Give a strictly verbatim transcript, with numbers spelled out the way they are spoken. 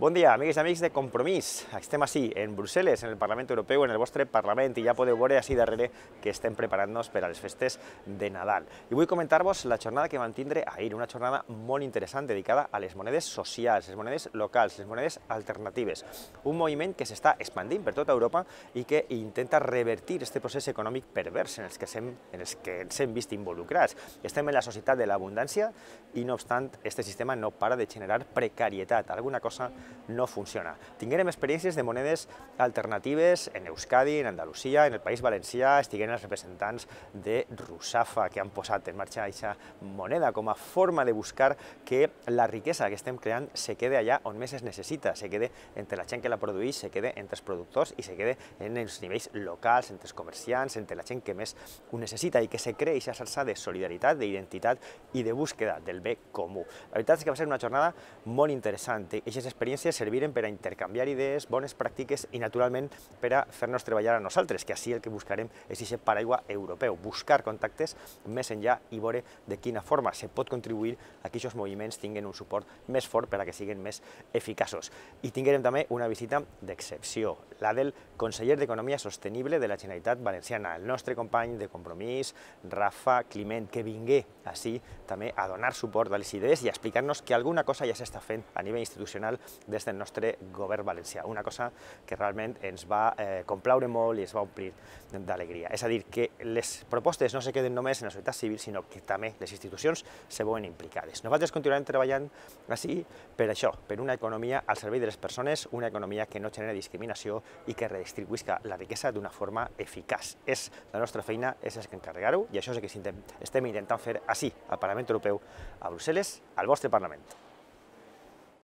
Bon dia, amigues i amics de Compromís. Estem així, en Brussel·les, en el Parlament Europeu, en el vostre Parlament, i ja podeu veure així darrere que estem preparant-nos per a les festes de Nadal. I vull comentar-vos la jornada que vam tindre ahir, una jornada molt interessant dedicada a les monedes socials, les monedes locals, les monedes alternatives. Un moviment que s'està expandint per tota Europa i que intenta revertir aquest procés econòmic pervers en els que, sem, en els que ens hem vist involucrats. Estem en la societat de l'abundància i, no obstant, aquest sistema no para de generar precarietat. Alguna cosa no funciona. Tinguérem experiències de monedes alternatives en Euskadi, en Andalusia, en el País Valencià, estigueren els representants de Russafa, que han posat en marxa aquesta moneda com a forma de buscar que la riquesa que estem creant se quede allà on més es necessita, se quede entre la gent que la produeix, se quede entre els productors i se quede en els nivells locals, entre els comerciants, entre la gent que més ho necessita i que se cree aquesta salsa de solidaritat, d'identitat i de búsqueda del bé comú. La veritat és que va ser una jornada molt interessant. Aquestes experiències serviren per a intercanviar idees, bones pràctiques i, naturalment, per a fer-nos treballar a nosaltres, que així el que buscarem és aquest paraigua europeu, buscar contactes més enllà i veure de quina forma se pot contribuir a que aquests moviments tinguin un suport més fort per a que siguin més eficaços. I tinguérem també una visita d'excepció, la del conseller d'Economia Sostenible de la Generalitat Valenciana, el nostre company de Compromís, Rafa Climent, que vingué així també a donar suport a les idees i a explicar-nos que alguna cosa ja s'està fent a nivell institucional des del nostre govern valencià, una cosa que realment ens va eh, complaure molt i ens va omplir d'alegria. És a dir, que les propostes no se queden només en la societat civil, sinó que també les institucions se veuen implicades. Nosaltres continuarem treballant així per això, per una economia al servei de les persones, una economia que no genera discriminació i que redistribuïsca la riquesa d'una forma eficaç. És la nostra feina, és el que encarregar-ho, i això és el que estem intentant fer així, al Parlament Europeu, a Brussel·les, al vostre Parlament.